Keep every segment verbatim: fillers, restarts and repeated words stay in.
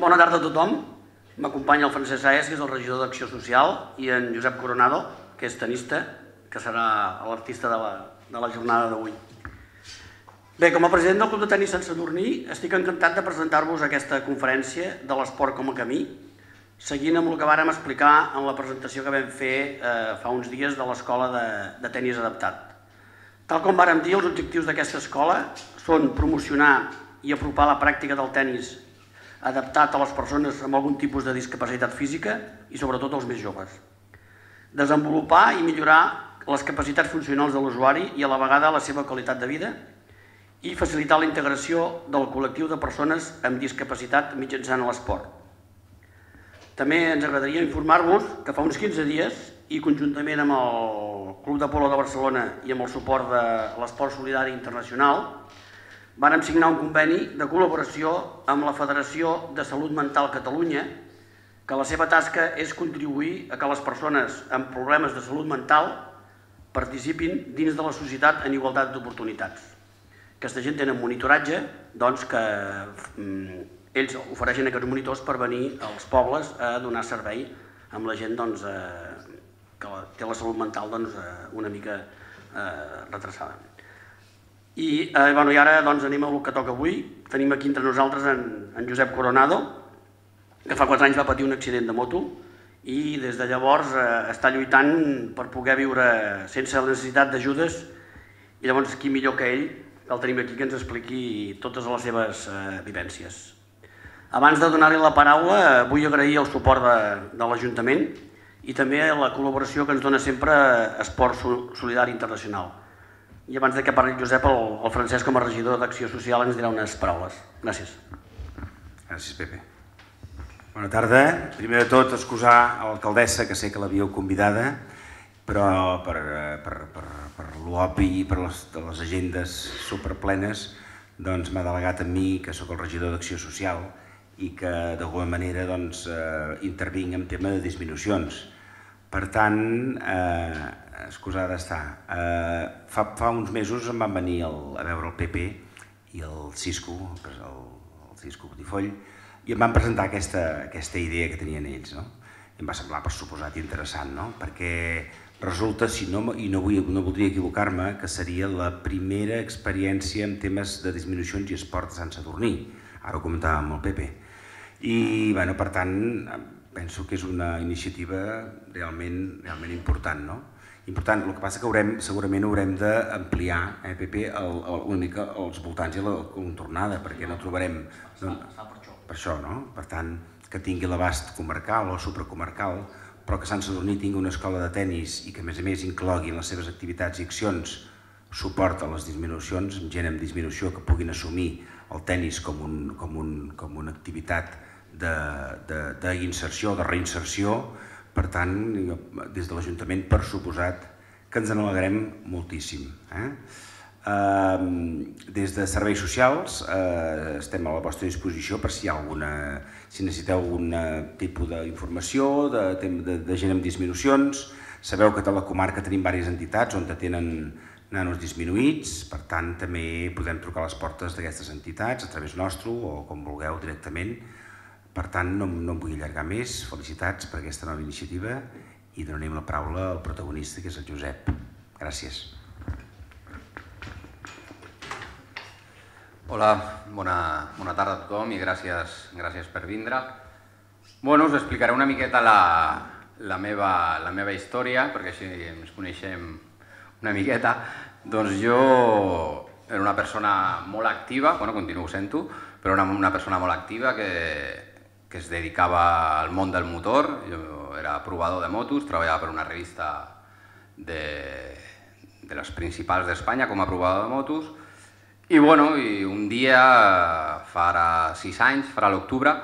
Bona tarda a tothom. M'acompanya el Francesc Saez, que és el regidor d'Acció Social, i en Josep Coronado, que és tenista, que serà l'artista de, la, de la jornada d'avui. Bé, com a president del Club de Tenis Sant Sadurní, estic encantat de presentar-vos aquesta conferència de l'esport com a camí, seguint amb el que vàrem explicar en la presentació que vam fer eh, fa uns dies de l'escola de, de tenis adaptat. Tal com vàrem dir, els objectius d'aquesta escola són promocionar i apropar la pràctica del tenis adaptat a les persones amb algun tipus de discapacitat física i sobretot als més joves. Desenvolupar i millorar les capacitats funcionals de l'usuari i a la vegada la seva qualitat de vida i facilitar la integració del col·lectiu de persones amb discapacitat mitjançant l'esport. També ens agradaria informar-vos que fa uns quinze dies i conjuntament amb el Club de Polo de Barcelona i amb el suport de l'Esport Solidari Internacional vàrem signar un conveni de col·laboració amb la Federació de Salut Mental Catalunya, que la seva tasca és contribuir a que les persones amb problemes de salut mental participin dins de la societat en igualtat d'oportunitats. Aquesta gent tenen monitoratge, doncs que mm, ells ofereixen aquests monitors per venir als pobles a donar servei amb la gent doncs, eh, que té la salut mental doncs, eh, una mica eh, retrasada. I, eh, bueno, i ara doncs, anem al que toca avui. Tenim aquí entre nosaltres en, en Josep Coronado, que fa quatre anys va patir un accident de moto i des de llavors eh, està lluitant per poder viure sense la necessitat d'ajudes, i llavors qui millor que ell, el tenim aquí, que ens expliqui totes les seves eh, vivències. Abans de donar-li la paraula, eh, vull agrair el suport de, de l'Ajuntament i també la col·laboració que ens dona sempre Esport Solidari Internacional. I abans que parli el Josep, el, el Francesc, com a regidor d'Acció Social, ens dirà unes paraules. Gràcies. Gràcies, Pepe. Bona tarda. Primer de tot, excusar a l'alcaldessa, que sé que l'havíeu convidada, però per, per, per, per l'obvi i per les, les agendes superplenes doncs, m'ha delegat a mi, que sóc el regidor d'Acció Social, i que d'alguna manera doncs, eh, intervinc en tema de disminucions. Per tant, eh, excusada està. Eh, fa, fa uns mesos em van venir el, a veure el Pepe i el Cisco, el, el Cisco Botifoll, i em van presentar aquesta, aquesta idea que tenien ells. No? I em va semblar, per suposat, interessant, no? Perquè resulta, si no, i no, vull, no voldria equivocar-me, que seria la primera experiència en temes de disminucions i esport a Sant Sadurní. Ara ho comentàvem amb el Pepe. I, bueno, per tant, penso que és una iniciativa realment, realment important, no? Important, el que passa que haurem, segurament haurem d'ampliar, eh, Pepe, el, el, una mica els voltants i la contornada, perquè no trobarem... No, per això, no? Per tant, que tingui l'abast comarcal o supracomarcal, però que Sant Sadurní tingui una escola de tenis i que, a més a més, inclogui en les seves activitats i accions suport a les disminucions, amb gent amb disminució que puguin assumir el tenis com, un, com, un, com una activitat d'inserció, de, de, de reinserció. Per tant, des de l'Ajuntament, per suposat, que ens n'alegrem moltíssim. Eh? Eh, des de Serveis Socials eh, estem a la vostra disposició per si hi ha alguna, si necessiteu algun tipus d'informació, de, de, de gent amb disminucions. Sabeu que a la comarca tenim diverses entitats on tenen nanos disminuïts, per tant, també podem trucar a les portes d'aquestes entitats a través nostre o com vulgueu directament. Per tant, no, no em vull allargar més. Felicitats per aquesta nova iniciativa i donarem la paraula al protagonista, que és el Josep. Gràcies. Hola, bona, bona tarda a tothom i gràcies, gràcies per vindre. Bueno, us explicaré una miqueta la, la, meva, la meva història, perquè així ens coneixem una miqueta. Doncs jo era una persona molt activa, bueno, continuo sent-ho, però una, una persona molt activa que... que es dedicava al món del motor. Jo era provador de motos, treballava per una revista de, de les principals d'Espanya com a provador de motos. I, bueno, i un dia, fa ara sis anys, farà l'octubre,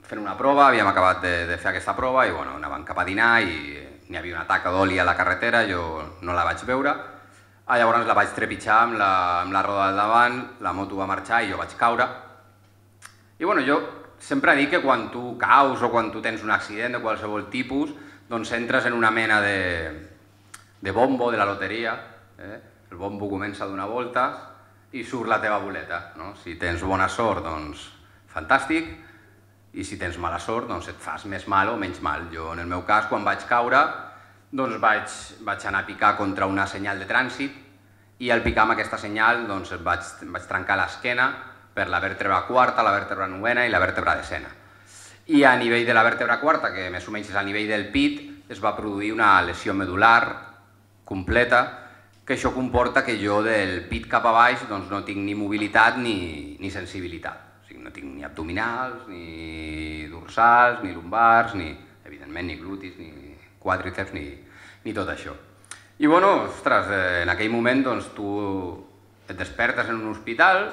fent una prova, havíem acabat de, de fer aquesta prova i bueno, anàvem cap a dinar i n'hi havia una taca d'oli a la carretera, jo no la vaig veure. Ah, llavors la vaig trepitjar amb la, amb la roda del davant, la moto va marxar i jo vaig caure. I bueno, jo sempre dic que quan tu caus o quan tu tens un accident de qualsevol tipus, doncs entres en una mena de, de bombo de la loteria. Eh? El bombo comença a donar voltes i surt la teva boleta. No? Si tens bona sort, doncs fantàstic. i si tens mala sort, doncs et fas més mal o menys mal. Jo, en el meu cas, quan vaig caure, doncs vaig, vaig anar a picar contra una senyal de trànsit i al picar amb aquesta senyal doncs vaig, vaig trencar l'esquena per la vèrtebra quarta, la vèrtebra novena i la vèrtebra desena. I a nivell de la vèrtebra quarta, que més o menys és a nivell del pit, es va produir una lesió medular completa, que això comporta que jo del pit cap a baix doncs, no tinc ni mobilitat ni, ni sensibilitat. O sigui, no tinc ni abdominals, ni dorsals, ni lumbars, ni, evidentment, ni glutis, ni quàdriceps, ni, ni tot això. I bueno, ostres, eh, en aquell moment doncs, tu et despertes en un hospital,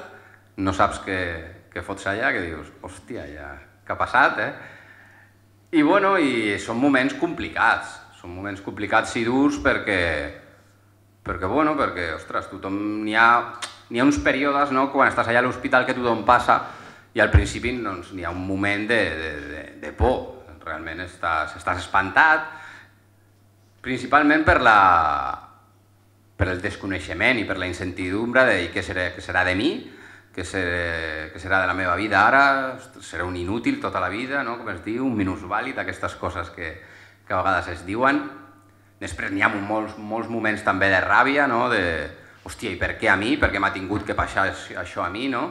no saps què, què fots allà, que dius, hòstia, ja, què ha passat, eh? I bueno, i són moments complicats, són moments complicats i durs perquè, perquè bueno, perquè, ostres, tothom, n'hi ha, n'hi ha uns períodes, no?, quan estàs allà a l'hospital que tothom passa i al principi doncs, n'hi ha un moment de, de, de, de por, realment estàs, estàs espantat, principalment per, la, per el desconeixement i per la incertidumbre de què serà, què serà de mi, què serà, què serà de la meva vida ara, serà un inútil tota la vida, no? Com es diu, un minusvàlid, aquestes coses que, que a vegades es diuen. Després n'hi ha molts, molts moments també de ràbia, no? De, hòstia, i per què a mi? Per què m'ha tingut que passar això a mi, no?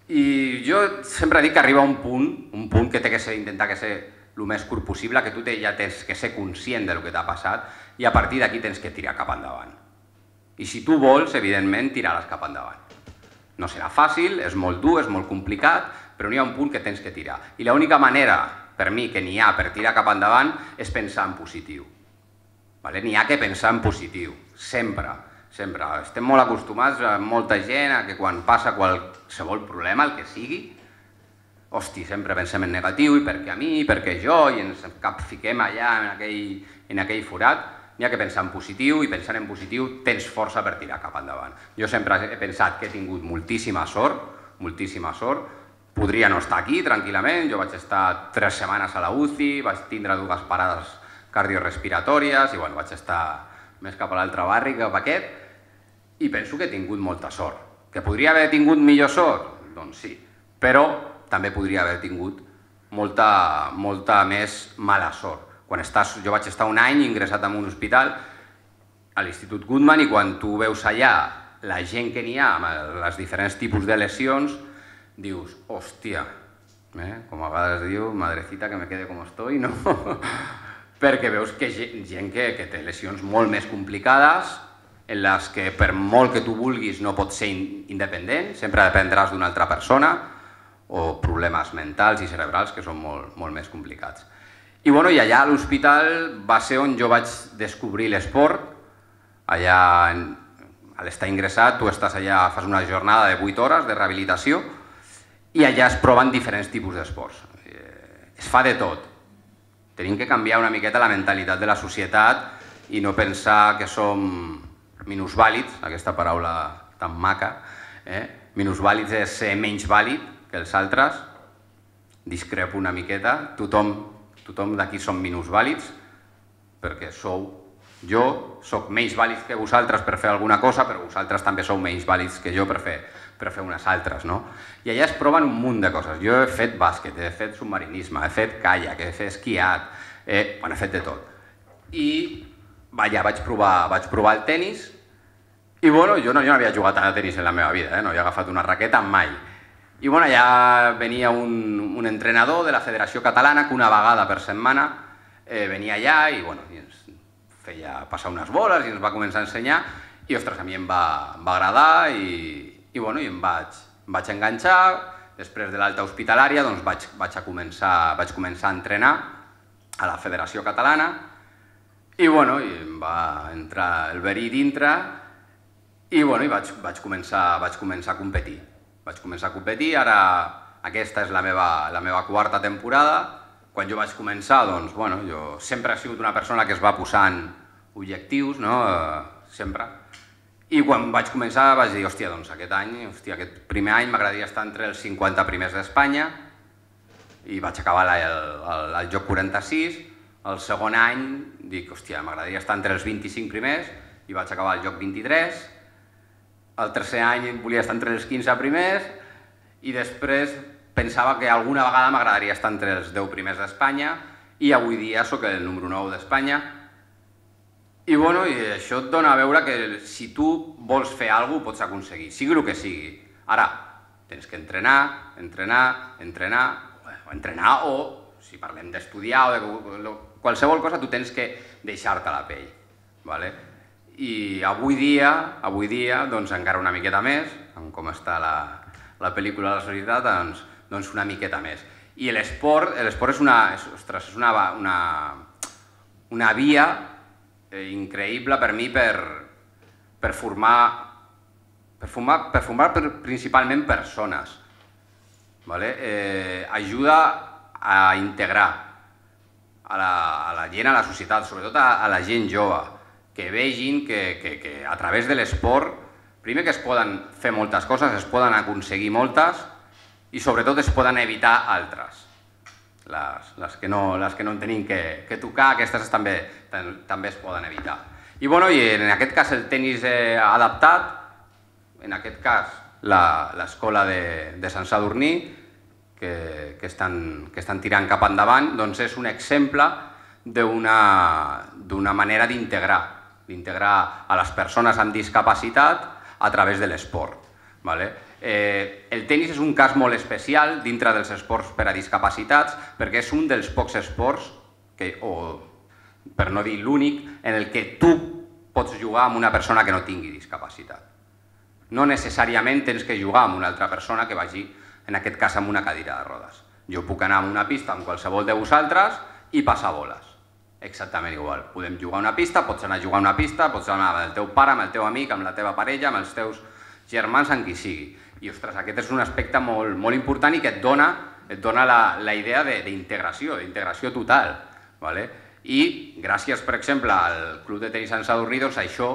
I jo sempre dic que arriba un punt, un punt que té que ser, intentar que ser el més curt possible, que tu te, ja tens que ser conscient del que t'ha passat i a partir d'aquí tens que tirar cap endavant. I si tu vols, evidentment, tiraràs cap endavant. No serà fàcil, és molt dur, és molt complicat, però n'hi ha un punt que tens que tirar. I l'única manera, per mi, que n'hi ha per tirar cap endavant és pensar en positiu. Vale? N'hi ha que pensar en positiu, sempre, sempre. Estem molt acostumats a molta gent a que quan passa qualsevol problema, el que sigui, hosti, sempre pensem en negatiu, i per què a mi, i per què jo, i ens capfiquem allà en aquell, en aquell forat. N'hi ha que pensar en positiu, i pensant en positiu tens força per tirar cap endavant. Jo sempre he pensat que he tingut moltíssima sort, moltíssima sort, podria no estar aquí tranquil·lament, jo vaig estar tres setmanes a la U C I, vaig tindre dues parades cardiorespiratòries, i bueno, vaig estar més cap a l'altre barri que cap a aquest, i penso que he tingut molta sort. Que podria haver tingut millor sort? Doncs sí, però també podria haver tingut molta, molta més mala sort. Quan estàs, jo vaig estar un any ingressat en un hospital a l'Institut Guttmann i quan tu veus allà la gent que n'hi ha amb els diferents tipus de lesions, dius, hòstia, eh? Com a vegades diu, madrecita que me quede com estoy, no? Perquè veus que gent que, que té lesions molt més complicades, en les que per molt que tu vulguis no pots ser independent, sempre dependràs d'una altra persona, o problemes mentals i cerebrals que són molt, molt més complicats. I, bueno, i allà a l'hospital va ser on jo vaig descobrir l'esport. Allà, a l'estar ingressat, tu estàs allà, fas una jornada de vuit hores de rehabilitació i allà es proven diferents tipus d'esports. Es fa de tot. Tenim que canviar una miqueta la mentalitat de la societat i no pensar que som minusvàlids, aquesta paraula tan maca. Eh? Minusvàlids és ser menys vàlid que els altres. Discrepo una miqueta. Tothom Tothom d'aquí som minusvàlids, perquè sou... Jo soc menys vàlid que vosaltres per fer alguna cosa, però vosaltres també sou menys vàlids que jo per fer, per fer unes altres, no? I allà es proven un munt de coses. Jo he fet bàsquet, he fet submarinisme, he fet caiac, he fet esquiat, he, bueno, he fet de tot. I allà vaig provar, vaig provar el tenis i, bueno, jo no, jo no havia jugat a tenis en la meva vida, eh? No havia agafat una raqueta mai. I bueno, ja venia un, un entrenador de la Federació Catalana que una vegada per setmana eh, venia allà i, bueno, i ens feia passar unes boles i ens va començar a ensenyar i, ostres, a mi em va, em va agradar i, i, bueno, i em vaig, em vaig enganxar. Després de l'alta hospitalària doncs vaig, vaig, a començar, vaig començar a entrenar a la Federació Catalana i, bueno, i em va entrar el verí dintre i, bueno, i vaig, vaig, començar, vaig començar a competir. Vaig començar a competir, ara aquesta és la meva, la meva quarta temporada. Quan jo vaig començar, doncs, bueno, jo sempre he sigut una persona que es va posant objectius, no? Sempre. I quan vaig començar vaig dir, hòstia, doncs aquest any, hòstia, aquest primer any m'agradaria estar entre els cinquanta primers d'Espanya i vaig acabar el, el, el joc quaranta-sis. El segon any dic, hòstia, m'agradaria estar entre els vint-i-cinc primers i vaig acabar el joc vint-i-tres. El tercer any volia estar entre els quinze primers i després pensava que alguna vegada m'agradaria estar entre els deu primers d'Espanya i avui dia sóc el número nou d'Espanya. I bueno, i això et dona a veure que si tu vols fer alguna cosa ho pots aconseguir, sigui el que sigui. Ara, tens que entrenar, entrenar, entrenar, o entrenar o, si parlem d'estudiar o de qualsevol cosa, tu tens que deixar-te la pell. I avui dia, avui dia, doncs encara una miqueta més, amb com està la pel·lícula de la societat, doncs una miqueta més. I l'esport és una via increïble per mi per formar per formar principalment persones. Ajuda a integrar a la gent, a la societat, sobretot a la gent jove, que vegin que a través de l'esport, primer que es poden fer moltes coses, es poden aconseguir moltes i sobretot es poden evitar altres. Les que no en tenim que tocar, aquestes també es poden evitar. I en aquest cas el tenis adaptat, en aquest cas l'escola de Sant Sadurní, que estan tirant cap endavant, doncs és un exemple d'una manera d'integrar, d'integrar a les persones amb discapacitat a través de l'esport. El tenis és un cas molt especial dintre dels esports per a discapacitats perquè és un dels pocs esports, per no dir l'únic, en el que tu pots jugar amb una persona que no tingui discapacitat. No necessàriament tens que jugar amb una altra persona que vagi, en aquest cas, amb una cadira de rodes. Jo puc anar a una pista amb qualsevol de vosaltres i passar boles. Exactament igual. Podem jugar a una pista, pots anar a jugar a una pista, pots anar amb el teu pare, amb el teu amic, amb la teva parella, amb els teus germans, amb qui sigui. I, ostres, aquest és un aspecte molt important i que et dona la idea d'integració, d'integració total. I gràcies, per exemple, al Club de Tenis Sant Sadurní, doncs això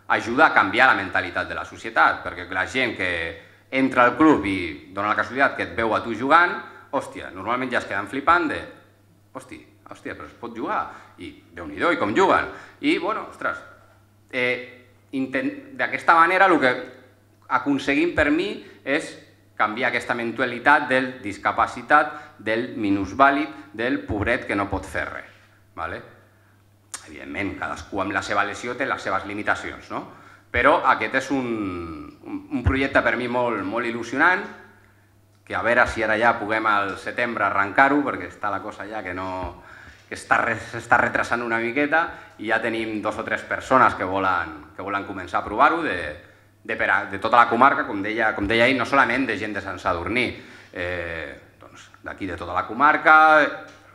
ajuda a canviar la mentalitat de la societat, perquè la gent que entra al club i dona la casualitat que et veu a tu jugant, hòstia, normalment ja es queden flipant de hòstia, hòstia, però es pot jugar, i Déu-n'hi-do, i com juguen. I, bueno, ostres, d'aquesta manera el que aconseguim per mi és canviar aquesta mentalitat del discapacitat, del minusvàlid, del pobret que no pot fer res. Evidentment, cadascú amb la seva lesió té les seves limitacions, no? Però aquest és un projecte per mi molt il·lusionant, que a veure si ara ja puguem al setembre arrencar-ho, perquè està la cosa ja que s'està retrasant una miqueta i ja tenim dos o tres persones que volen començar a provar-ho de tota la comarca, com deia ell, no solament de gent de Sant Sadurní, d'aquí de tota la comarca,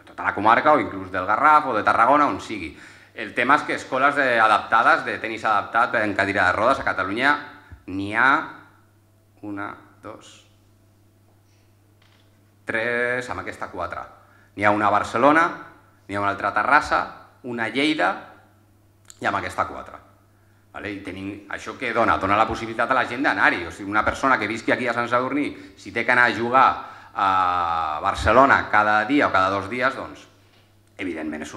tota la comarca o inclús del Garraf o de Tarragona, on sigui. El tema és que escoles adaptades, de tenis adaptat en cadira de rodes, a Catalunya n'hi ha una, dos, tres, amb aquesta quatre. N'hi ha una a Barcelona, n'hi ha una altra a Terrassa, una a Lleida i amb aquesta quatre. Això què dona? Dona la possibilitat a la gent d'anar-hi. O sigui, una persona que visqui aquí a Sant Sadurní, si té que anar a jugar a Barcelona cada dia o cada dos dies, doncs, evidentment és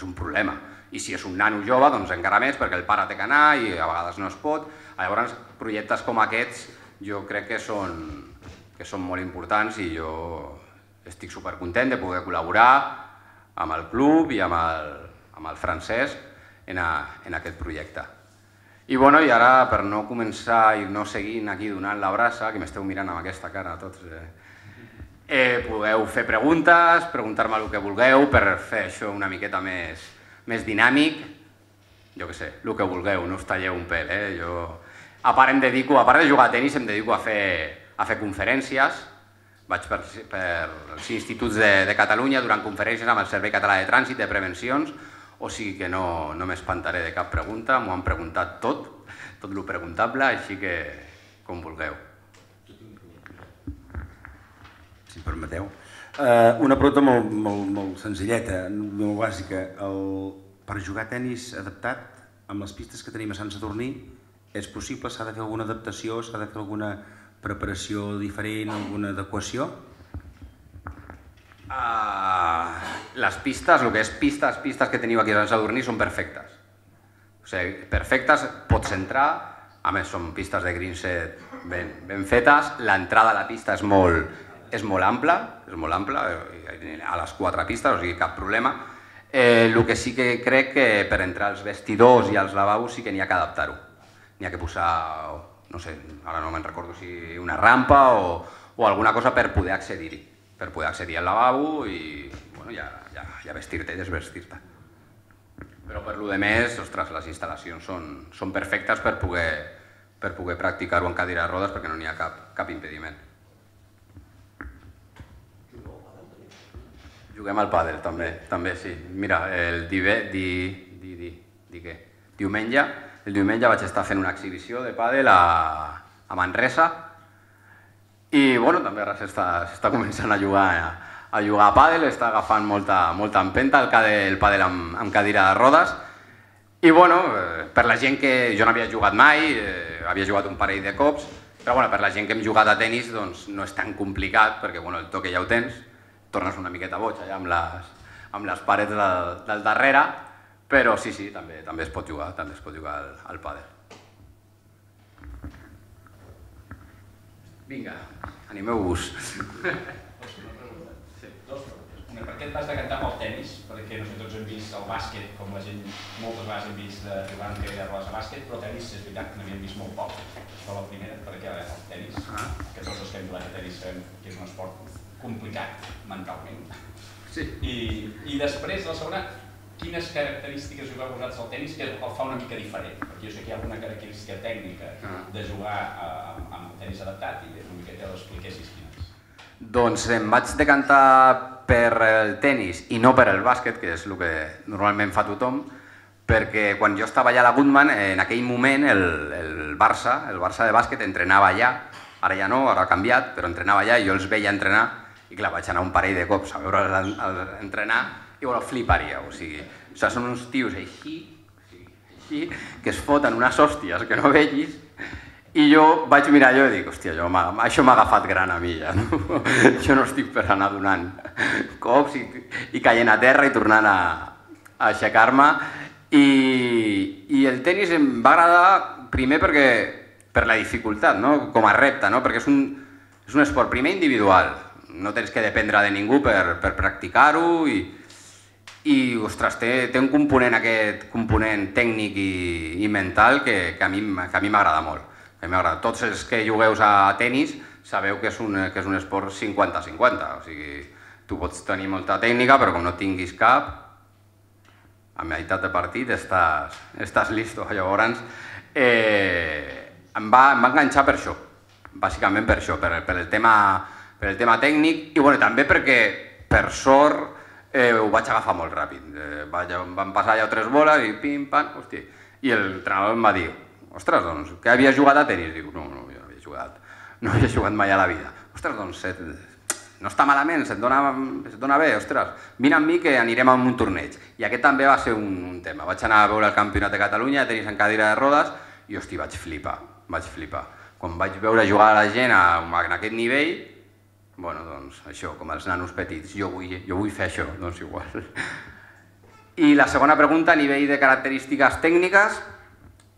un problema. I si és un nano jove, doncs encara més, perquè el pare té que anar i a vegades no es pot. Llavors, projectes com aquests jo crec que són molt importants i jo estic supercontent de poder col·laborar amb el club i amb el Francesc en aquest projecte. I ara, per no començar i no seguir aquí donant la brasa, que m'esteu mirant amb aquesta cara tots, podeu fer preguntes, preguntar-me el que vulgueu per fer això una miqueta més més dinàmic, jo què sé, el que vulgueu, no us talleu un pèl. A part de jugar a tenis em dedico a fer conferències, vaig per els instituts de Catalunya durant conferències amb el Servei Català de Trànsit de Prevencions, o sigui que no m'espantaré de cap pregunta, m'ho han preguntat tot, tot el preguntable, així que com vulgueu. Si em permeteu. Una pregunta molt senzilleta, molt bàsica. Per jugar a tenis adaptat, amb les pistes que tenim a Sant Sadurní, és possible? S'ha de fer alguna adaptació? S'ha de fer alguna preparació diferent, alguna adequació? Les pistes, el que és pistes, pistes que teniu aquí a Sant Sadurní són perfectes. O sigui, perfectes, pots entrar, a més són pistes de green set ben fetes, l'entrada a la pista és molt és molt ample, és molt ample, a les quatre pistes, o sigui, cap problema. El que sí que crec que per entrar als vestidors i als lavabos sí que n'hi ha que adaptar-ho. N'hi ha que posar, no sé, ara no me'n recordo si una rampa o alguna cosa per poder accedir-hi, per poder accedir al lavabo i ja vestir-te i desvestir-te. Però per lo de més, ostres, les instal·lacions són perfectes per poder practicar-ho en cadira de rodes perquè no n'hi ha cap impediment. Juguem al pàdel, també, també sí. Mira, el diumenge, el diumenge vaig estar fent una exhibició de pàdel a Manresa i, bueno, també ara s'està començant a jugar a jugar a pàdel, està agafant molta empenta el pàdel amb cadira de rodes i, bueno, per la gent que jo no havia jugat mai, havia jugat un parell de cops, però, bueno, per la gent que hem jugat a tenis, doncs no és tan complicat perquè, bueno, el toque ja ho tens, tornes una miqueta boig allà amb les parets del darrere, però sí, sí, també es pot jugar, també es pot jugar al pàdel. Vinga, animeu-vos. Per què et vas decantar pel tenis? Perquè no sé, tots hem vist el bàsquet, com la gent moltes vegades hem vist jugant que hi ha rodes a bàsquet, però tenis és veritat que n'havíem vist molt poc. Però la primera, perquè el tenis, que tots els que hem jugat a tenis sabem que és un esport complicat mentalment. I després, la segona, quines característiques jugar posats al tenis que el fa una mica diferent? Perquè jo sé que hi ha alguna característica tècnica de jugar amb tenis adaptat i una mica que l'expliquessis quines. Doncs em vaig decantar per el tenis i no per el bàsquet, que és el que normalment fa tothom, perquè quan jo estava allà a la Goodman, en aquell moment el Barça, el Barça de bàsquet entrenava allà, ara ja no, ara ha canviat, però entrenava allà i jo els veia entrenar i clar, vaig anar un parell de cops a veure'ls entrenar i bueno, fliparia, o sigui, són uns tios així, així, que es foten unes hòsties que no vegis. I jo vaig mirar allò i dic, hòstia, això m'ha agafat gran a mi ja, no? Jo no estic per anar donant cops i caient a terra i tornant a aixecar-me. I el tenis em va agradar primer per la dificultat, com a repte, perquè és un esport primer individual, no tens que dependre de ningú per practicar-ho i, ostres, té un component, aquest component tècnic i mental que a mi m'agrada molt. Tots els que jugueu a tenis sabeu que és un esport cinquanta cinquanta, o sigui, tu pots tenir molta tècnica, però com no tinguis cap, a meitat de partit estàs listo. Llavors, em va enganxar per això, bàsicament per això, per el tema tècnic i també perquè, per sort, ho vaig agafar molt ràpid. Van passar allà tres boles i pim, pam, hòstia, i l'entrenador em va dir, ostres, doncs, que havies jugat a tenis? Dic, no, no, jo no havia jugat, no havia jugat mai a la vida. Ostres, doncs, no està malament, se't dona bé, ostres, vine amb mi que anirem a un torneig. I aquest també va ser un tema. Vaig anar a veure el Campionat de Catalunya de tenis en cadira de rodes i, hosti, vaig flipar, vaig flipar. Quan vaig veure jugar a la gent en aquest nivell, bueno, doncs, això, com els nanos petits, jo vull fer això, doncs igual. I la segona pregunta, a nivell de característiques tècniques,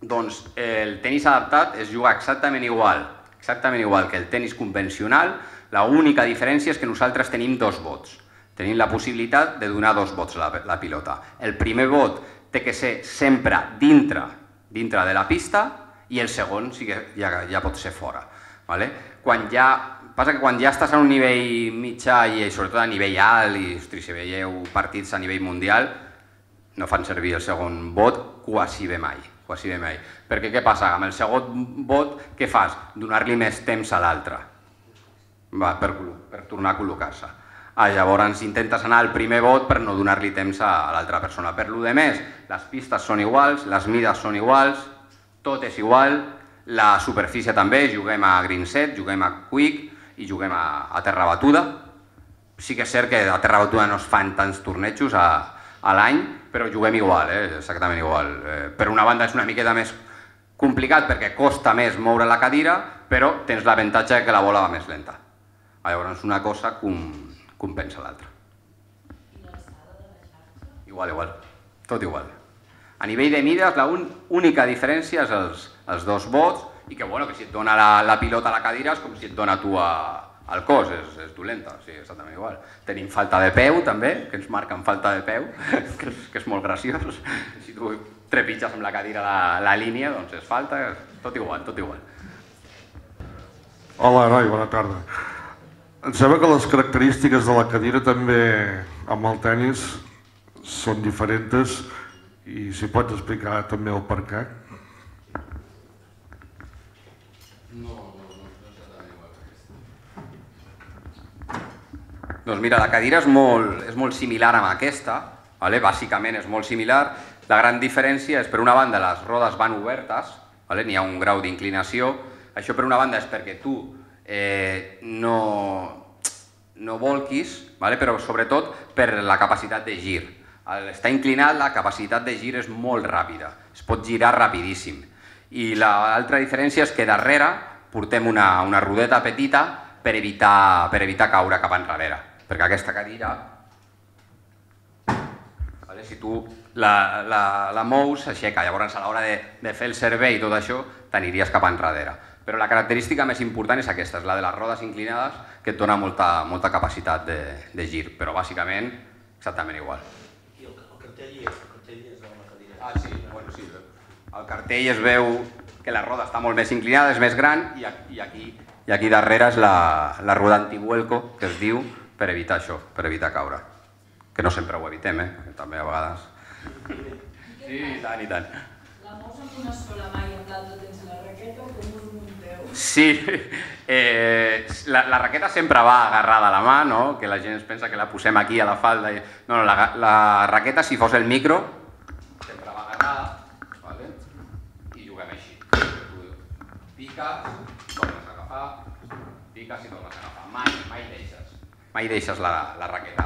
doncs el tenis adaptat es juga exactament igual, exactament igual que el tenis convencional, l'única diferència és que nosaltres tenim dos vots. Tenim la possibilitat de donar dos vots a la pilota. El primer vot té que ser sempre dintre de la pista i el segon ja pot ser fora. Passa que quan ja estàs a un nivell mitjà i sobretot a nivell alt, i si veieu partits a nivell mundial, no fan servir el segon vot quasi bé mai. quasi bé mai. Perquè què passa? Amb el segon vot, què fas? Donar-li més temps a l'altre per tornar a col·locar-se. Llavors intentes anar al primer vot per no donar-li temps a l'altra persona. Per lo de més, les pistes són iguals, les mides són iguals, tot és igual, la superfície també, juguem a green set, juguem a quick i juguem a terra batuda. Sí que és cert que a terra batuda no es fan tants tornejos a l'any, però juguem igual, exactament igual. Per una banda és una miqueta més complicat perquè costa més moure la cadira, però tens l'avantatge que la bola va més lenta. Llavors una cosa compensa l'altra. I l'alçada de la xarxa? Igual, igual, tot igual. A nivell de mides, l'única diferència és els dos vots i que si et dona la pilota a la cadira és com si et dona tu a al cos, és, és dolenta, sí, exactament igual. Tenim falta de peu també, que ens marquen falta de peu, que és, que és molt graciós. Si tu trepitges amb la cadira la, la línia, doncs és falta, tot igual, tot igual. Hola, noi, bona tarda. Em sembla que les característiques de la cadira també amb el tenis són diferents i si pots explicar també el per què. Doncs mira, la cadira és molt, és molt similar amb aquesta, vale? Bàsicament és molt similar. La gran diferència és, per una banda, les rodes van obertes, vale? N'hi ha un grau d'inclinació. Això, per una banda, és perquè tu eh, no, no volquis, vale? Però sobretot per la capacitat de gir. Al estar inclinat, la capacitat de gir és molt ràpida, es pot girar rapidíssim. I l'altra diferència és que darrere portem una, una rodeta petita per evitar, per evitar caure cap enrere. Perquè aquesta cadira, vale, si tu la, la, la mous, s'aixeca. Llavors, a l'hora de, de fer el servei i tot això, t'aniries cap enrere. Però la característica més important és aquesta, és la de les rodes inclinades, que et dona molta, molta capacitat de, de gir. Però, bàsicament, exactament igual. I el, el cartell hi és, el cartell és amb la cadira. Ah, sí, bueno, sí. Al cartell es veu que la roda està molt més inclinada, és més gran, i aquí, i aquí darrere és la, la roda antivuelco, que es diu, per evitar això, per evitar caure. Que no sempre ho evitem, eh? També a vegades. Sí, i tant, i tant. La mous amb una sola mà i amb l'altra tens la raqueta o com us munteu? Sí, eh, la, la raqueta sempre va agarrada a la mà, no? Que la gent es pensa que la posem aquí a la falda. I... No, no, la, la raqueta, si fos el micro, sempre va agarrada, vale? I juguem així. Tu piques, tornes a agafar, piques i tornes a agafar. Mai, mai deixes. Mai deixes la, la raqueta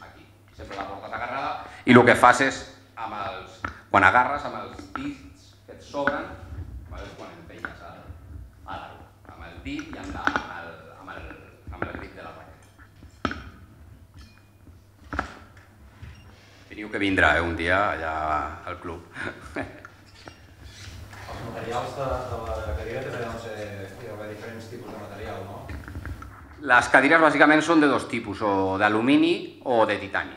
aquí. Sempre la portes agarrada i el que fas és, amb els, quan agarres amb els dits que et sobren, vale, és quan empenyes el, el, amb el dit i amb, la, amb, el, amb, el, amb el grip de la raqueta. Teniu que vindre eh, un dia allà al club. Els materials de, de la cadira també deuen ser, hi ha diferents tipus de material, no? Les cadires bàsicament són de dos tipus, o d'alumini o de titani.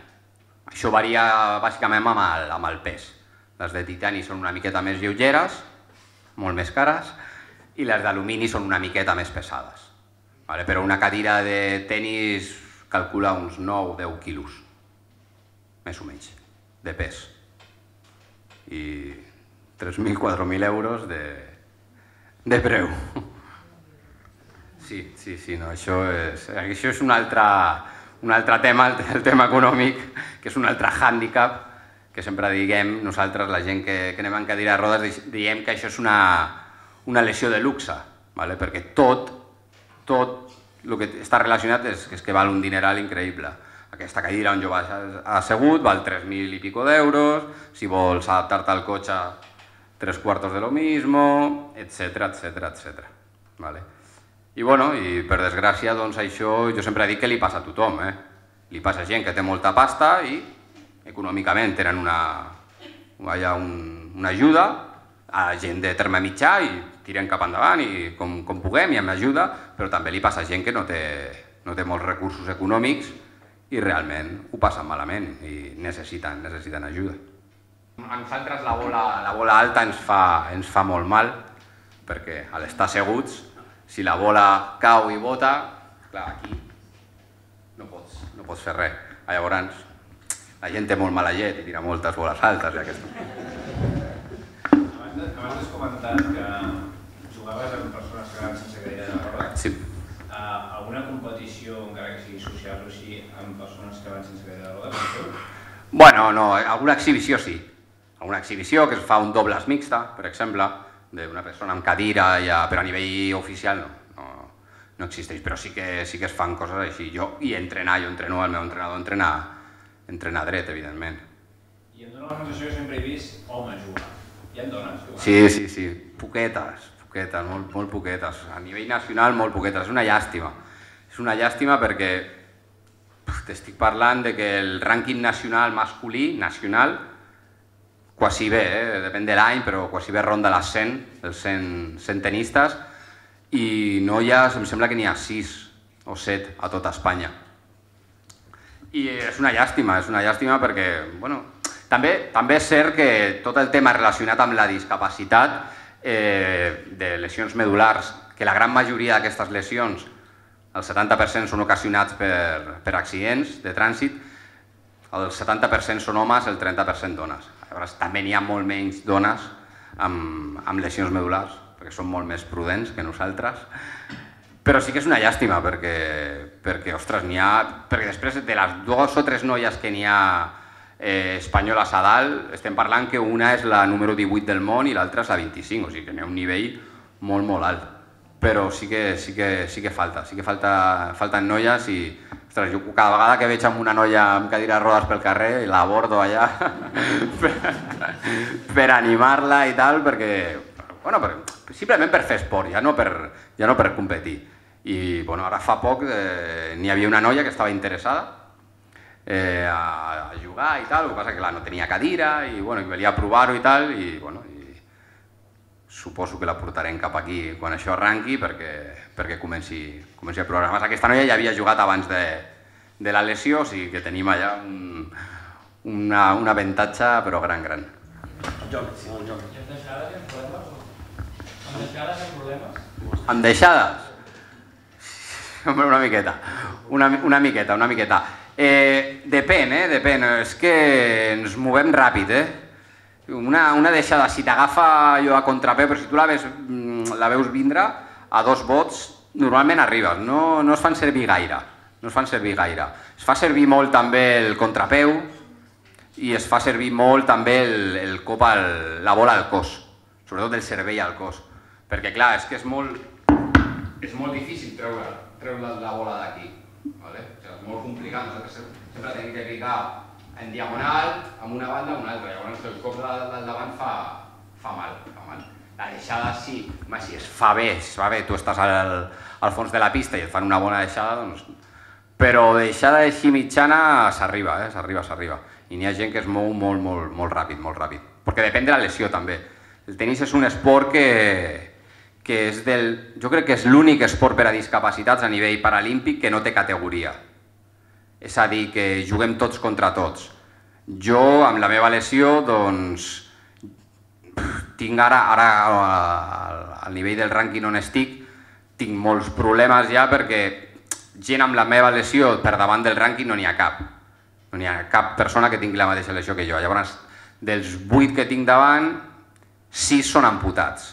Això varia bàsicament amb el, amb el pes. Les de titani són una miqueta més lleugeres, molt més cares, i les d'alumini són una miqueta més pesades. Vale? Però una cadira de tenis calcula uns nou o deu quilos, més o menys, de pes. I tres mil o quatre mil euros de, de preu. Sí, sí, sí, no, això és, això és un altre, un altre tema, el, el tema econòmic, que és un altre hàndicap, que sempre diguem nosaltres, la gent que, que anem en cadira de rodes, diem que això és una, una lesió de luxe, ¿vale? Perquè tot, tot el que està relacionat és, és que val un dineral increïble. Aquesta cadira on jo vaig assegut val tres mil i pico d'euros, si vols adaptar-te al cotxe, tres quartos de lo mismo, etcètera, etcètera, etcètera. Vale? I, bueno, i per desgràcia, doncs això jo sempre dic que li passa a tothom. Eh? Li passa a gent que té molta pasta i econòmicament tenen una, un, una ajuda, a gent de terme mitjà i tiren cap endavant i com, com puguem i amb ajuda, però també li passa a gent que no té, no té molts recursos econòmics i realment ho passen malament i necessiten, necessiten ajuda. A nosaltres la bola, la bola alta ens fa, ens fa molt mal perquè a l'estar asseguts, si la bola cau i bota, clar, aquí no pots, no pots fer res. Llavors, la gent té molt mala llet i tira moltes boles altes. I aquesta... Abans has comentat que jugaves amb persones que van sense cadira de rodes. Sí. Uh, alguna competició, encara que sigui social o així, amb persones que van sense cadira de rodes? Bueno, no, alguna exhibició sí. Alguna exhibició que es fa un dobles mixta, per exemple, d'una persona amb cadira, ja, però a nivell oficial no, no, no existeix, però sí que, sí que es fan coses així. Jo, i entrenar, jo entreno, el meu entrenador entrena, entrena dret, evidentment. I em dóna la sensació que sempre he vist homes jugar. Hi ha dones jugant? Sí, sí, sí, poquetes, poquetes, molt, molt poquetes. A nivell nacional, molt poquetes. És una llàstima. És una llàstima perquè t'estic parlant de que el rànquing nacional masculí, nacional, quasi bé, eh? Depèn de l'any, però quasi bé ronda les cent, els cent, cent tenistes, i no hi ha, em sembla que n'hi ha sis, o set a tota Espanya. I és una llàstima, és una llàstima perquè, bueno, també, també és cert que tot el tema relacionat amb la discapacitat eh, de lesions medulars, que la gran majoria d'aquestes lesions, el setanta per cent són ocasionats per, per accidents de trànsit, el setanta per cent són homes, el trenta per cent dones. Llavors, també n'hi ha molt menys dones amb, amb lesions medulars, perquè són molt més prudents que nosaltres. Però sí que és una llàstima, perquè, perquè ostres, n'hi ha... Perquè després de les dues o tres noies que n'hi ha eh, espanyoles a dalt, estem parlant que una és la número divuit del món i l'altra és la vint-i-cinc, o sigui que n'hi ha un nivell molt, molt alt. Però sí que, sí que, sí que falta, sí que falta, falten noies i ostres, jo cada vegada que veig amb una noia amb cadira de rodes pel carrer l'abordo allà per, per animar-la i tal, perquè, bueno, per, simplement per fer esport, ja no per, ja no per competir. I bueno, ara fa poc eh, n'hi havia una noia que estava interessada eh, a, a jugar i tal, el que passa que clar, no tenia cadira i bueno, volia provar-ho i tal, i bueno, suposo que la portarem cap aquí quan això arranqui perquè, perquè comenci, comenci a provar. Además, aquesta noia ja havia jugat abans de, de la lesió, o sigui que tenim allà un, una, un avantatge però gran, gran. Joc, sí, el joc. I amb deixades hi ha problemes? Amb deixades hi ha problemes? Amb deixades? Hombre, una miqueta, una, una miqueta, una miqueta. Eh, depèn, eh, depèn. És que ens movem ràpid, eh? Una, una deixada, si t'agafa allò a contrapeu, però si tu la, ves, la veus vindre a dos vots, normalment arribes, no, no es fan servir gaire, no es fan servir gaire. Es fa servir molt també el contrapeu i es fa servir molt també el, el cop, al, la bola al cos, sobretot el cervell al cos, perquè clar, és que és molt, és molt difícil treure, treure la bola d'aquí, ¿vale? O sigui, és molt complicat, nosaltres sempre tenim que picar en diagonal, amb una banda o una altra, llavors el cop del davant fa, fa mal, fa mal. La deixada sí, home, si es fa bé, si es fa bé, tu estàs al, al fons de la pista i et fan una bona deixada, doncs... Però deixada així mitjana s'arriba, eh? s'arriba, s'arriba. I n'hi ha gent que es mou molt, molt, molt ràpid, molt ràpid. Perquè depèn de la lesió també. El tenis és un esport que, que és del... Jo crec que és l'únic esport per a discapacitats a nivell paralímpic que no té categoria. És a dir, que juguem tots contra tots. Jo, amb la meva lesió, doncs, tinc ara, ara al nivell del rànquing on estic, tinc molts problemes ja perquè gent amb la meva lesió per davant del rànquing no n'hi ha cap. No n'hi ha cap persona que tingui la mateixa lesió que jo. Llavors, dels vuit que tinc davant, sis són amputats.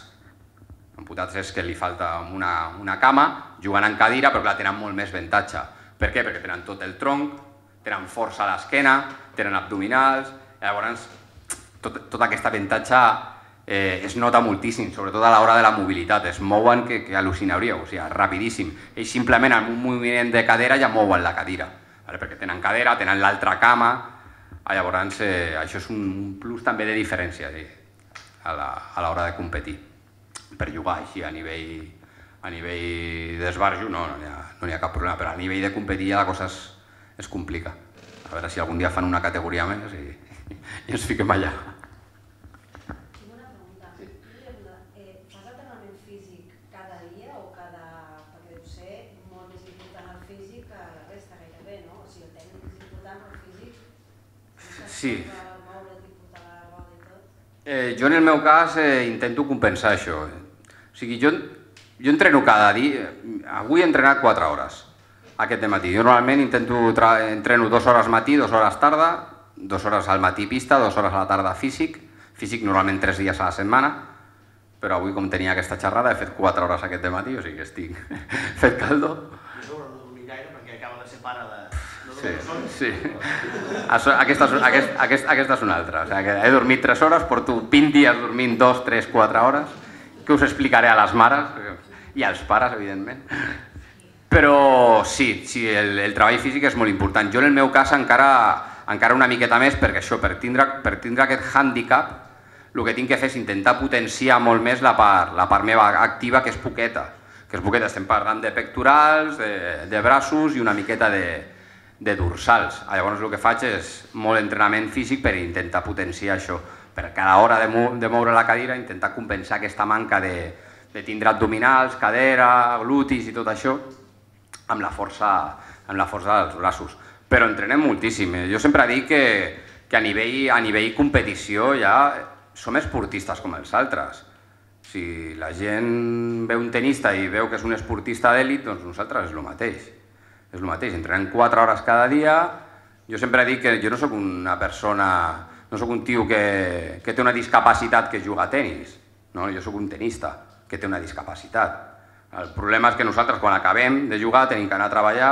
Amputats és que li falta una, una cama, jugant en cadira, però clar, tenen molt més avantatge. Per què? Perquè tenen tot el tronc, tenen força a l'esquena, tenen abdominals, llavors tot, tot aquest avantatge eh, es nota moltíssim, sobretot a l'hora de la mobilitat, es mouen que, que al·lucinaríeu, o sigui, rapidíssim. Ells simplement amb un moviment de cadera ja mouen la cadira, vale? Perquè tenen cadera, tenen l'altra cama, llavors eh, això és un plus també de diferència sí, a l'hora de competir, per jugar així a nivell... A nivell d'esbarjo no, no n'hi ha, no n'hi ha cap problema, però a nivell de competir ja la cosa es, es complica. A veure si algun dia fan una categoria més i, i ens fiquem allà. Tinc una pregunta. Sí. Eh, fas entrenament físic cada dia o cada... Perquè deu ser molt més important el físic que la resta gairebé, no? O sigui, el tècnic és important, però el físic... Sí. Moure't i portar la roda i tot. Eh, jo en el meu cas eh, intento compensar això. O sigui, jo... Jo entreno cada dia, avui he entrenat quatre hores, aquest matí. Jo normalment intento, entreno dues hores matí, dues hores tarda, dues hores al matí pista, dues hores a la tarda físic, físic normalment tres dies a la setmana, però avui com tenia aquesta xerrada he fet quatre hores aquest matí, o sigui que estic fet caldo. Jo no dormir gaire perquè acaba de ser pare de... Sí, sí. Aquesta, aquest, aquest, aquesta és una altra, o sigui que he dormit tres hores, porto vint dies dormint dos, tres, quatre hores, que us explicaré a les mares, i als pares, evidentment. Però sí, sí el, el treball físic és molt important. Jo en el meu cas encara, encara una miqueta més, perquè això, per tindre, per tindre aquest hàndicap, el que tinc que fer és intentar potenciar molt més la part, la part meva activa, que és poqueta. Que és poqueta, estem parlant de pectorals, de, de braços i una miqueta de, de dorsals. Llavors el que faig és molt entrenament físic per intentar potenciar això. Per cada hora de, mou, de moure la cadira, intentar compensar aquesta manca de de tindre abdominals, cadera, glutis i tot això, amb la força, amb la força dels braços. Però entrenem moltíssim. Jo sempre dic que, que a, nivell, a nivell competició ja som esportistes com els altres. Si la gent veu un tenista i veu que és un esportista d'èlit, doncs nosaltres és el mateix. És el mateix, entrenem quatre hores cada dia. Jo sempre dic que jo no sóc una persona, no sóc un tio que, que té una discapacitat que juga a tenis. No? Jo sóc un tenista que té una discapacitat. El problema és que nosaltres quan acabem de jugar tenim que anar a treballar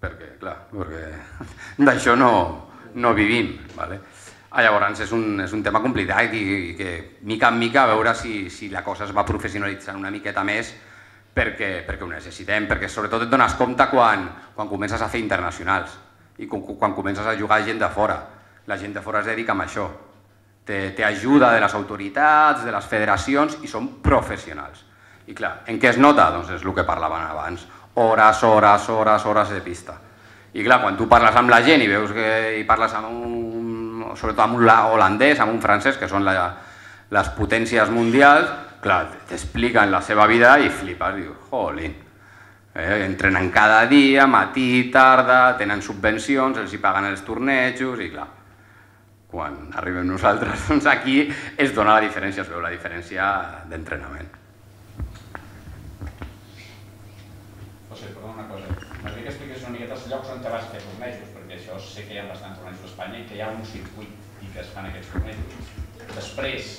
perquè, clar, perquè d'això no, no vivim. Vale? Ah, llavors és un, és un tema complicat i, i que mica en mica a veure si, si la cosa es va professionalitzant una miqueta més perquè, perquè ho necessitem, perquè sobretot et dones compte quan, quan comences a fer internacionals i quan, quan comences a jugar gent de fora. La gent de fora es dedica a això. Té, té ajuda de les autoritats, de les federacions i són professionals. I clar, en què es nota? Doncs és el que parlaven abans. Hores, hores, hores, hores de pista. I clar, quan tu parles amb la gent i veus que i parles amb un, sobretot amb un holandès, amb un francès, que són la, les potències mundials, clar, t'expliquen la seva vida i flipes, dius, jolín. Eh, entrenen cada dia, matí, tarda, tenen subvencions, els hi paguen els tornejos i clar, quan arribem nosaltres, doncs aquí es dona la diferència, es veu la diferència d'entrenament. José, perdona una cosa. M'agradaria que expliqués una miqueta els llocs on te vas fer tornejos, perquè això sé que hi ha bastants tornejos a Espanya i que hi ha un circuit i que es fan aquests tornejos. Després,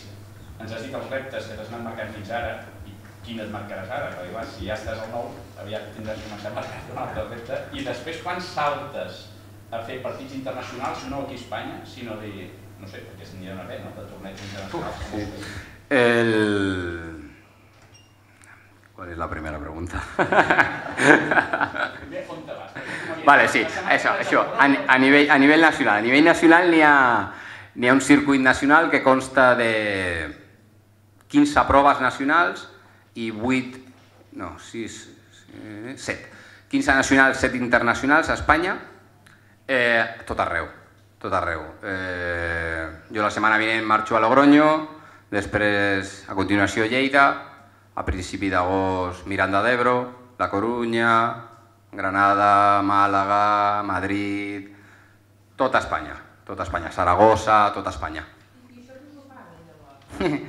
ens has dit els reptes que t'has anat marcant fins ara i quin et marcaràs ara, perquè clar, si ja estàs al nou, aviat tindràs que començar a marcar un altre repte. I després, quan saltes a fer partits internacionals, no aquí a Espanya, sinó de, no sé, perquè n'hi ha una pena, no?, de tornejos internacionals. Sí. El... ¿Cuál es la primera pregunta? Vale, sí, això, això. A, a, nivell, a nivell nacional. A nivell nacional n'hi ha, n'hi ha un circuit nacional que consta de quinze proves nacionals i vuit, no, sis, set. quinze nacionals, set internacionals a Espanya, eh, tot arreu, tot arreu. Eh, jo la setmana vinent marxo a Logroño, després a continuació Lleida, a principi d'agost Miranda d'Ebro, La Corunya, Granada, Màlaga, Madrid, tota Espanya, tota Espanya, Saragossa, tota Espanya. I això no s'ho paga, llavors?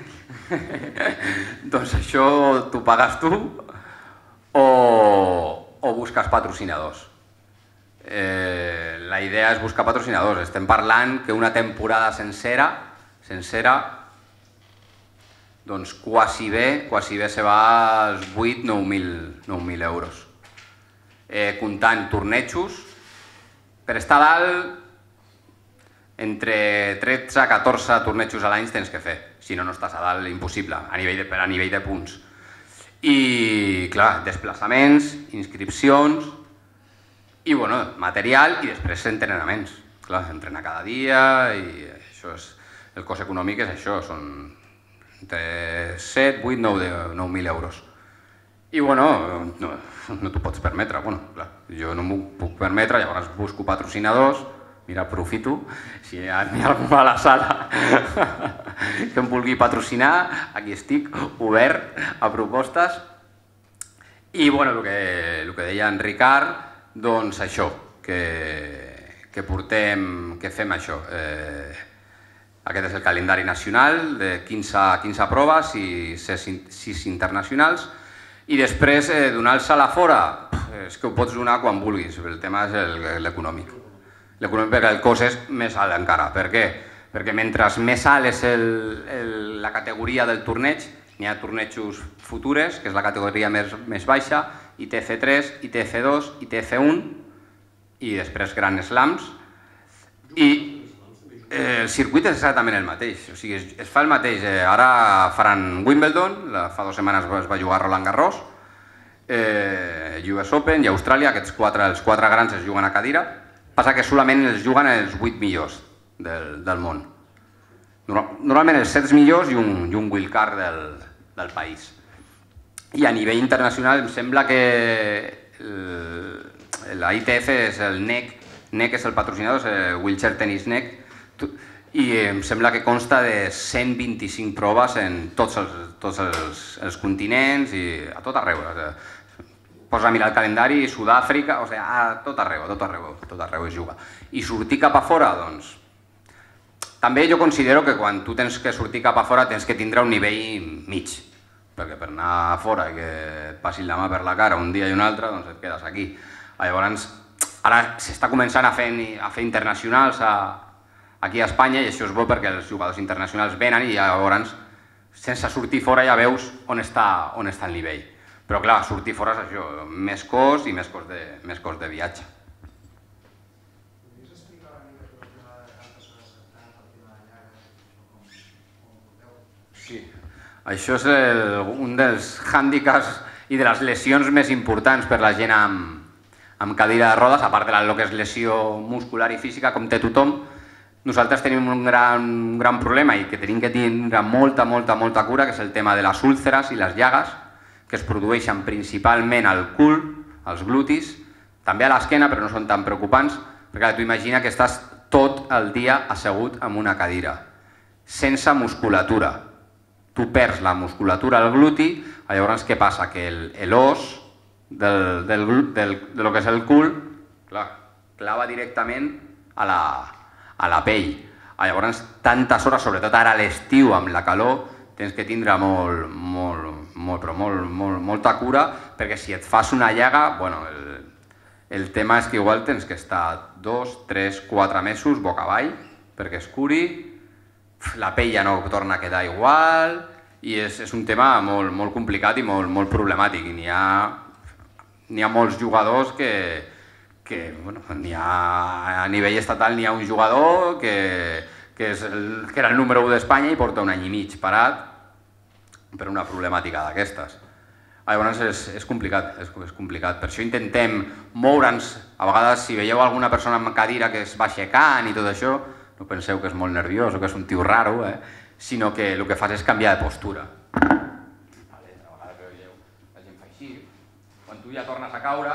Doncs això t'ho pagues tu o, o busques patrocinadors. Eh, la idea és buscar patrocinadors. Estem parlant que una temporada sencera, sencera, doncs quasi bé, quasi bé se va als vuit a nou mil euros. Eh, comptant tornejos, per estar dalt, entre tretze a catorze tornejos a l'any tens que fer, si no, no estàs a dalt, impossible, a nivell de, a nivell de punts. I, clar, desplaçaments, inscripcions, i, bueno, material i després entrenaments. Clar, entrenar cada dia i això és, el cost econòmic és això, són entre set, vuit, nou mil euros. I, bueno, no, no t'ho pots permetre. Bueno, clar, jo no m'ho puc permetre, llavors busco patrocinadors, mira, aprofito, si hi ha algú a la sala que em vulgui patrocinar, aquí estic, obert a propostes. I, bueno, el que, el que deia en Ricard, doncs això, que, que portem, que fem això. Eh, Aquest és el calendari nacional de quinze, quinze proves i sis internacionals. I després, eh, donar-se la fora, és que ho pots donar quan vulguis, el tema és l'econòmic. L'econòmic perquè el cost és més alt encara. Per què? Perquè mentre més alt és el, el, la categoria del torneig, n'hi ha tornejos futures, que és la categoria més, més baixa, I T F tres, I T F dos, I T F un, i després Grand Slams. I el circuit és exactament el mateix, o sigui, es, es fa el mateix. Eh, ara faran Wimbledon, la, fa dues setmanes es va jugar Roland Garros, eh, U S Open i Austràlia, aquests quatre, els quatre grans es juguen a cadira, passa que solament els juguen els vuit millors del, del món. Normalment els set millors i un, i un wildcard del, del país. I a nivell internacional em sembla que el, la I T F és el N E C, N E C és el patrocinador, és el Wheelchair Tennis N E C, i em sembla que consta de cent vint-i-cinc proves en tots els, tots els, els continents i a tot arreu. posa a mirar el calendari, Sud-àfrica, o sigui, a tot arreu, a tot arreu, tot arreu es juga. I sortir cap a fora, doncs... També jo considero que quan tu tens que sortir cap a fora tens que tindre un nivell mig, perquè per anar a fora i que et passin la mà per la cara un dia i un altre, doncs et quedes aquí. Llavors, ara s'està començant a fer, a fer internacionals a, aquí a Espanya i això és bo perquè els jugadors internacionals venen i llavors, sense sortir fora ja veus on està, on està el nivell. Però clar, sortir fora és això, més cost i més cost de, més cost de viatge. Sí, això és el, un dels hàndicaps i de les lesions més importants per la gent amb, amb cadira de rodes, a part de lo que és lesió muscular i física, com té tothom. Nosaltres tenim un gran, un gran problema i que tenim que tindre molta, molta, molta cura, que és el tema de les úlceres i les llagues, que es produeixen principalment al cul, als glutis, també a l'esquena, però no són tan preocupants, perquè tu imagina que estàs tot el dia assegut en una cadira, sense musculatura. Tu perds la musculatura al gluti, llavors què passa? Que l'os del, del, del, de lo que és el cul, clar, clava directament a la, a la pell. Llavors, tantes hores, sobretot ara a l'estiu amb la calor, tens que tindre molt, molt, molt, però molt, molt, molta cura, perquè si et fas una llaga, bueno, el, el tema és que igual tens que estar dos, tres, quatre mesos boca avall perquè es curi, la pell ja no torna a quedar igual i és, és un tema molt, molt complicat i molt, molt problemàtic. N'hi ha, n'hi ha molts jugadors que, que bueno, n'hi ha, a nivell estatal n'hi ha un jugador que, que, és el, que era el número u d'Espanya i porta un any i mig parat per una problemàtica d'aquestes. Llavors és, és complicat, és, és complicat. Per això intentem moure'ns, a vegades si veieu alguna persona amb cadira que es va aixecant i tot això, no penseu que és molt nerviós o que és un tio raro, eh? Sinó que el que fas és canviar de postura. Vale, a vegades veieu, la gent fa així. Quan tu ja tornes a caure,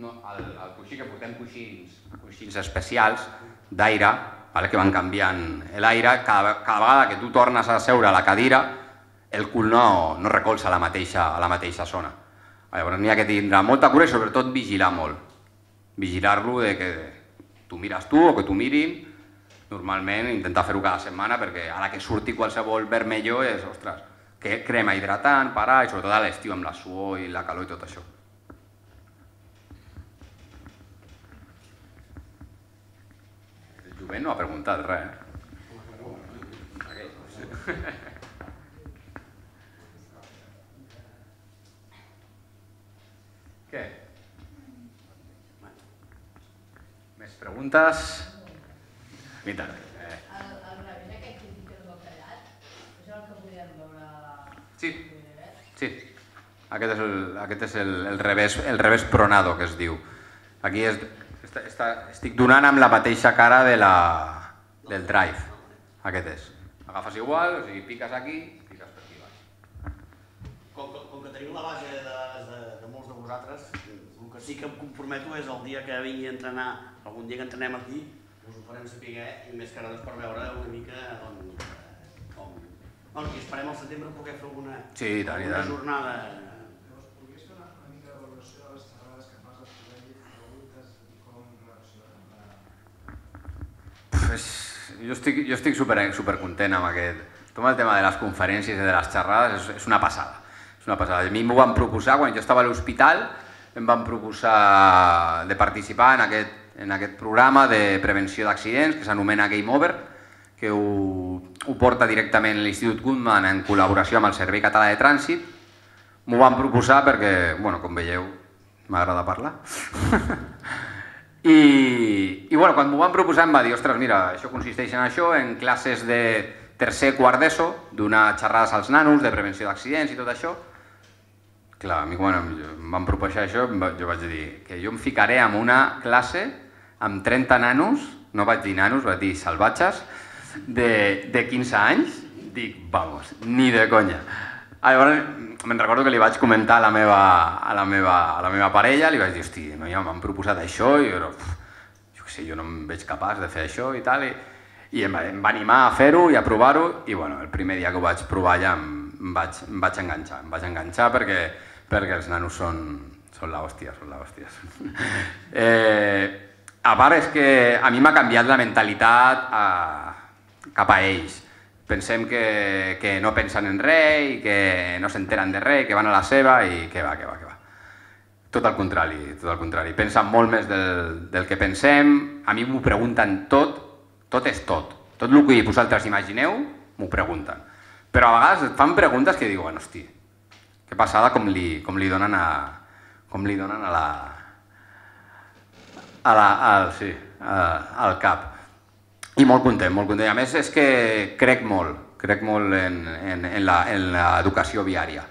no, el, el coixí que portem coixins, coixins especials d'aire, vale, que van canviant l'aire, cada, cada vegada que tu tornes a seure a la cadira, el cul no, no recolza a la mateixa, a la mateixa zona. Llavors n'hi ha que tindre molta cura i sobretot vigilar molt. Vigilar-lo de que tu mires tu o que tu mirin. Normalment intentar fer-ho cada setmana perquè ara que surti qualsevol vermelló és, ostres, que crema hidratant, parar, i sobretot a l'estiu amb la suor i la calor i tot això. El jovent no ha preguntat res, eh? Què? Més preguntes? I tant. El, el revés aquest que dic el bacallat, és el que podíem veure... Sí, sí. Aquest és, el, aquest és el, el, revés, el revés pronado, que es diu. Aquí és, està, està, estic donant amb la mateixa cara de la, del drive. Aquest és. Agafes igual, o sigui, piques aquí, piques per aquí baix. Com, com, com que teniu la base de, de, de molts de vosaltres, el que sí que em comprometo és el dia que vingui a entrenar, algun dia que entrenem aquí, us ho farem saber i més que res per veure una mica doncs, com... Bueno, i esperem al setembre poder fer alguna, sí, tant, alguna tant. jornada. Llavors, podries fer una, una mica de valoració de les xerrades que fas, les preguntes i com reaccionen? Jo estic, jo estic super, super content amb aquest... Tot el tema de les conferències i de les xerrades és, és una passada. És una passada. A mi m'ho van proposar, quan jo estava a l'hospital, em van proposar de participar en aquest en aquest programa de prevenció d'accidents que s'anomena Game Over, que ho, ho porta directament l'Institut Guttmann en col·laboració amb el Servei Català de Trànsit. M'ho van proposar perquè, bueno, com veieu, m'agrada parlar. I, i bueno, quan m'ho van proposar em va dir, ostres, mira, això consisteix en això, en classes de tercer, quart d'ESO, donar xerrades als nanos de prevenció d'accidents i tot això. Clar, a mi quan em van proposar això, jo vaig dir que jo em ficaré en una classe amb trenta nanos, no vaig dir nanos, vaig dir salvatges, de, de quinze anys, dic, vamos, ni de conya. Llavors, me'n recordo que li vaig comentar a la meva, a la meva, a la meva parella, li vaig dir, hosti, no, ja m'han proposat això, i jo, jo què sé, jo no em veig capaç de fer això i tal, i, i em, em va animar a fer-ho i a provar-ho, i bueno, el primer dia que ho vaig provar ja em, em, vaig, em vaig enganxar, em vaig enganxar perquè, perquè els nanos són, Són la hòstia, són la hòstia. Eh, a part és que a mi m'ha canviat la mentalitat a, cap a ells. Pensem que, que no pensen en res i que no s'enteren de res, que van a la seva i que va, que va, que va. Tot el contrari, tot el contrari. Pensen molt més del, del que pensem, a mi m'ho pregunten tot, tot és tot. Tot el que vosaltres imagineu, m'ho pregunten. Però a vegades et fan preguntes que diuen, hosti, que passada com li, com li donen a, com li donen a la, a la, al, sí, a, al cap. I molt content, molt content. A més és que crec molt, crec molt en, en, en l'educació viària.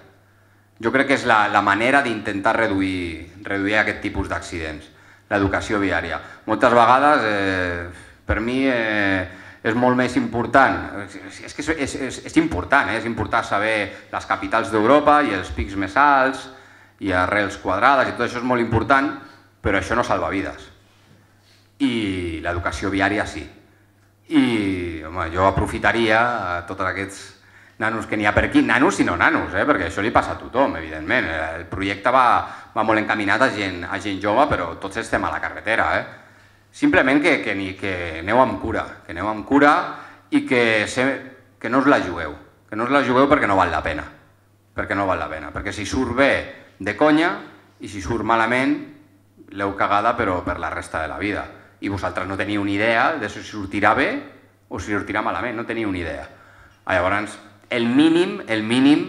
Jo crec que és la, la manera d'intentar reduir, reduir aquest tipus d'accidents, l'educació viària. Moltes vegades, eh, per mi, eh, és molt més important, és que és, és, és important, eh? És important saber les capitals d'Europa i els pics més alts i arrels quadrades i tot això és molt important, però això no salva vides. I l'educació viària sí. I home, jo aprofitaria a tots aquests nanos que n'hi ha per aquí, nanos i no nanos, eh? Perquè això li passa a tothom, evidentment. El projecte va, va molt encaminat a gent, a gent jove, però tots estem a la carretera. Eh? Simplement que, que, ni, que aneu amb cura, que aneu amb cura i que, se, que no us la jugueu, que no us la jugueu perquè no val la pena, perquè no val la pena, perquè si surt bé de conya i si surt malament l'heu cagada però per la resta de la vida i vosaltres no teniu ni idea de si sortirà bé o si sortirà malament, no teniu ni idea. Llavors, el mínim, el mínim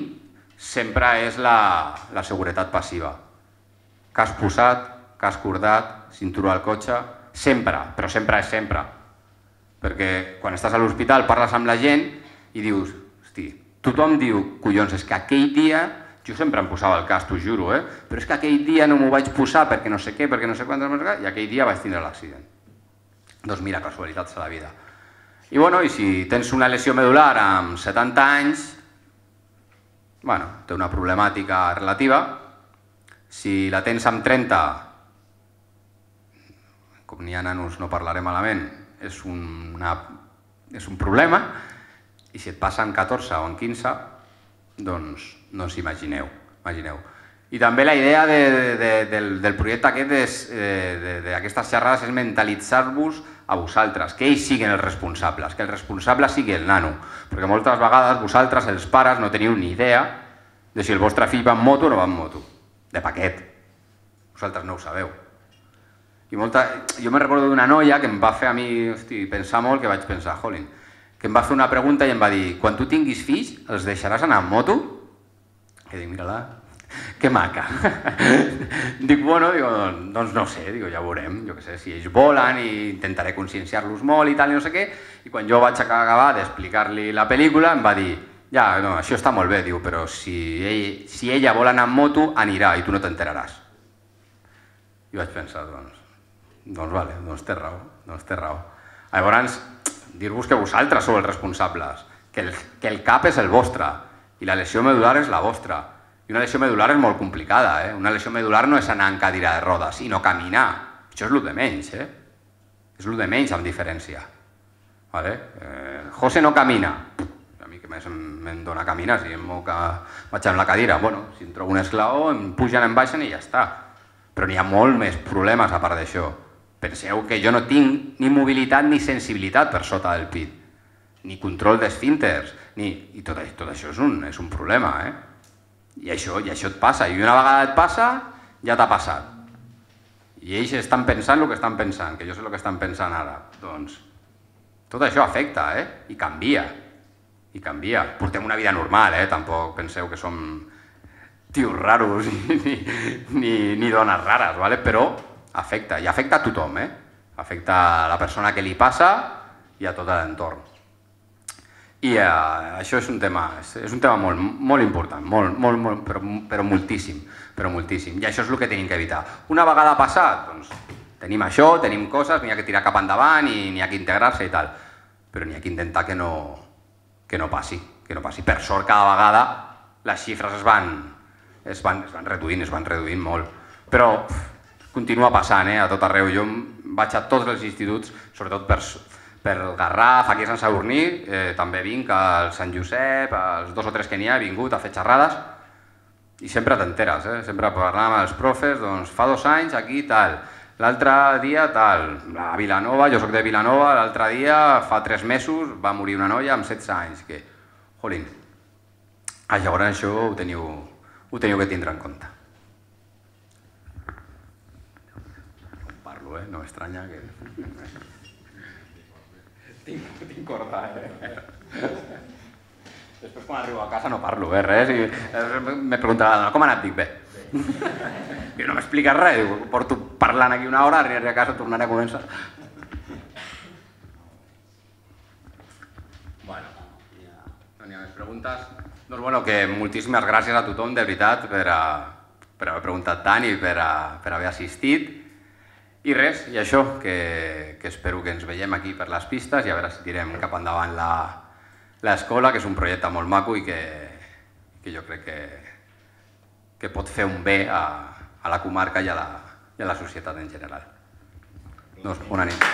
sempre és la, la seguretat passiva. Cas posat, cas cordat, cinturó al cotxe, sempre, però sempre és sempre. Perquè quan estàs a l'hospital parles amb la gent i dius, hosti, tothom diu, collons, és que aquell dia, jo sempre em posava el cas, t'ho juro, eh? Però és que aquell dia no m'ho vaig posar perquè no sé què, perquè no sé quantes, i aquell dia vaig tindre l'accident. Doncs mira, casualitats de la vida. I bueno, i si tens una lesió medular amb setanta anys, bueno, té una problemàtica relativa. Si la tens amb trenta, com n'hi ha nanos no parlaré malament, és, una, és un problema, i si et passa amb catorze o amb quinze, doncs no us imagineu, imagineu. I també la idea de, de, del, del projecte aquest d'aquestes xerrades és mentalitzar-vos a vosaltres, que ells siguin els responsables, que el responsable sigui el nano, perquè moltes vegades vosaltres, els pares, no teniu ni idea de si el vostre fill va en moto o no va en moto, de paquet. Vosaltres no ho sabeu. I molta... Jo me recordo d'una noia que em va fer a mi hosti, pensar molt, que vaig pensar, jolín, que em va fer una pregunta i em va dir, quan tu tinguis fills, els deixaràs anar en moto? I dic, mira-la, que maca. Dic, bueno, digo, doncs no sé, digo, ja veurem, jo què sé, si ells volen i intentaré conscienciar-los molt i tal, i no sé què, i quan jo vaig acabar d'explicar-li la pel·lícula em va dir, ja, no, això està molt bé, diu, però si, ell, si ella vol anar en moto, anirà i tu no t'enteraràs. I vaig pensar, doncs, doncs vale, doncs té raó, doncs té raó. Llavors, dir-vos que vosaltres sou els responsables, que el, que el cap és el vostre i la lesió medular és la vostra. I una lesió medular és molt complicada, eh? Una lesió medular no és anar en cadira de rodes i no caminar. Això és el de menys, eh? És el de menys amb diferència. Vale? Eh, José no camina. A mi que més em dona caminar, si em moc a... vaig amb la cadira. Bueno, si em trobo un esglaó, em pugen, em baixen i ja està. Però n'hi ha molt més problemes a part d'això. Penseu que jo no tinc ni mobilitat ni sensibilitat per sota del pit, ni control d'esfínters, ni... i tot, tot això és un, és un problema, eh? I això, i això et passa, i una vegada et passa, ja t'ha passat. I ells estan pensant el que estan pensant, que jo sé el que estan pensant ara. Doncs tot això afecta, eh? I canvia, i canvia. Portem una vida normal, eh? Tampoc penseu que som tios raros ni, ni, ni dones rares, ¿vale? Però afecta, i afecta a tothom, eh? Afecta a la persona que li passa i a tot l'entorn. I uh, això és un tema, és, és un tema molt, molt important, molt, molt, molt, però, però moltíssim, però moltíssim. I això és el que tenim que evitar. Una vegada passat, doncs, tenim això, tenim coses, n'hi ha que tirar cap endavant i n'hi ha que integrar-se i tal, però n'hi ha que intentar que no, que no passi, que no passi. Per sort, cada vegada les xifres es van, es van, es van reduint, es van reduint molt, però continua passant, eh, a tot arreu. Jo vaig a tots els instituts, sobretot per... per el Garraf, aquí a Sant Sadurní, eh, també vinc al Sant Josep, als dos o tres que n'hi ha, he vingut a fer xerrades, i sempre t'enteres, eh? Sempre parlant amb els profes, doncs fa dos anys aquí tal, l'altre dia tal, a Vilanova, jo soc de Vilanova, l'altre dia fa tres mesos va morir una noia amb setze anys, que, jolín, ah, llavors això ho teniu, ho teniu que tindre en compte. No parlo, eh? No m'estranya que... tinc, tinc corda, eh? Després quan arribo a casa no parlo, eh, res, i me preguntava, com ha anat? Dic, bé. I no m'expliques res, diu, porto parlant aquí una hora, arribaré a casa, tornaré a començar. Bueno, no n'hi ha més preguntes. Doncs bueno, que moltíssimes gràcies a tothom, de veritat, per, a, per haver preguntat tant i per, a, per haver assistit. I res, i això, que, que espero que ens veiem aquí per les pistes i a veure si tirem cap endavant la l'escola, que és un projecte molt maco i que, que jo crec que, que pot fer un bé a, a la comarca i a la, i a la societat en general. Doncs bona nit.